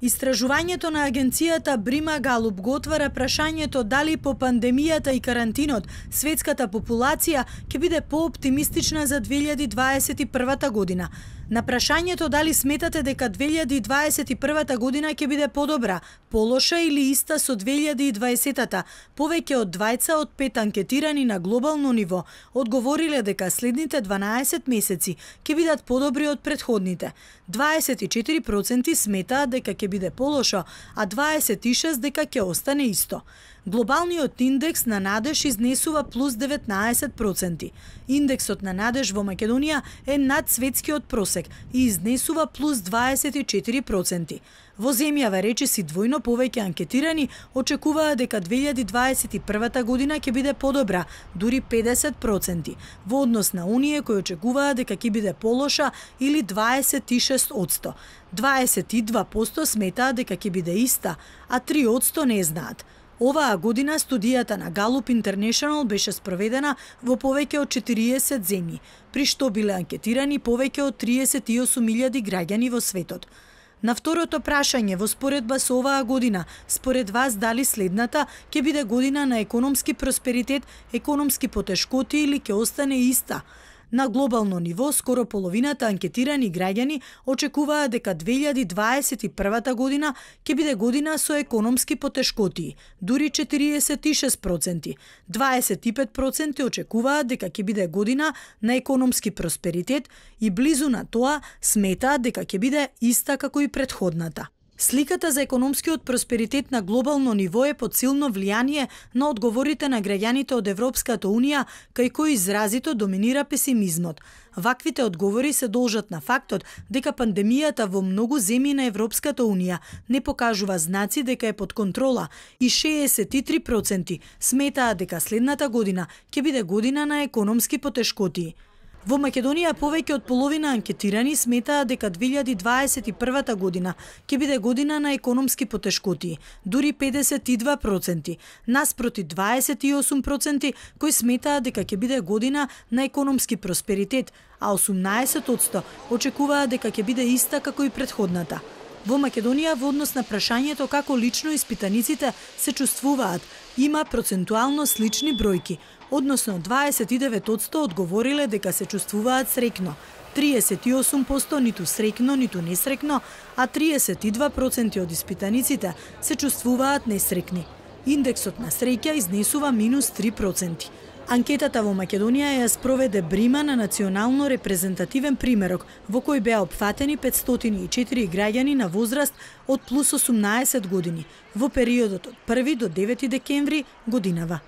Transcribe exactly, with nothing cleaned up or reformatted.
Истражувањето на агенцијата Брима Галуп го отвара прашањето дали по пандемијата и карантинот светската популација ќе биде пооптимистична за две илјади дваесет и прва година. На прашањето дали сметате дека две илјади дваесет и прва година ќе биде подобра, полоша или иста со две илјади и дваесета, повеќе од двајца од пет анкетирани на глобално ниво одговориле дека следните дванаесет месеци ќе бидат подобри од претходните. дваесет и четири проценти сметаат дека ќе биде полошо, а дваесет и шест дека ќе остане исто. Глобалниот индекс на надеж изнесува плюс деветнаесет проценти. Индексот на надеж во Македонија е над светскиот просек и изнесува плюс дваесет и четири проценти. Во земјава речиси двојно повеќе анкетирани очекуваат дека две илјади дваесет и прва година ќе биде подобра, дури педесет проценти, во однос на оние кои очекуваат дека ќе биде полоша или дваесет и шест одсто. дваесет и два проценти сметаат дека ќе биде иста, а три одсто не знаат. Оваа година студијата на Галуп Интернешнл беше спроведена во повеќе од четириесет земји, при што биле анкетирани повеќе од триесет и осум илјади граѓани во светот. На второто прашање во споредба со оваа година, според вас дали следната ќе биде година на економски просперитет, економски потешкоти или ќе остане иста? На глобално ниво, скоро половината анкетирани граѓани очекуваат дека две илјади дваесет и прва година ќе биде година со економски потешкоти, дури четириесет и шест проценти. дваесет и пет проценти очекуваат дека ќе биде година на економски просперитет и близу на тоа сметаат дека ќе биде иста како и претходната. Сликата за економскиот просперитет на глобално ниво е под силно влијание на одговорите на граѓаните од Европската Унија, кај кои изразито доминира песимизмот. Ваквите одговори се должат на фактот дека пандемијата во многу земји на Европската Унија не покажува знаци дека е под контрола и шеесет и три проценти сметаат дека следната година ќе биде година на економски потешкоти. Во Македонија повеќе од половина анкетирани сметаат дека две илјади дваесет и прва година ќе биде година на економски потешкоти, дури педесет и два проценти, наспроти дваесет и осум проценти кои сметаат дека ќе биде година на економски просперитет, а осумнаесет одсто очекуваат дека ќе биде иста како и претходната. Во Македонија во однос на прашањето како лично испитаниците се чувствуваат, има процентуално слични бројки, односно дваесет и девет одсто одговориле дека се чувствуваат среќно, триесет и осум проценти ниту среќно, ниту несреќно, а триесет и два проценти од испитаниците се чувствуваат несреќни. Индексот на среќа изнесува минус три проценти. Анкетата во Македонија ја спроведе Брима на национално репрезентативен примерок, во кој беа опфатени петстотини и четири граѓани на возраст од плюс осумнаесет години во периодот од први до девети декември годинава.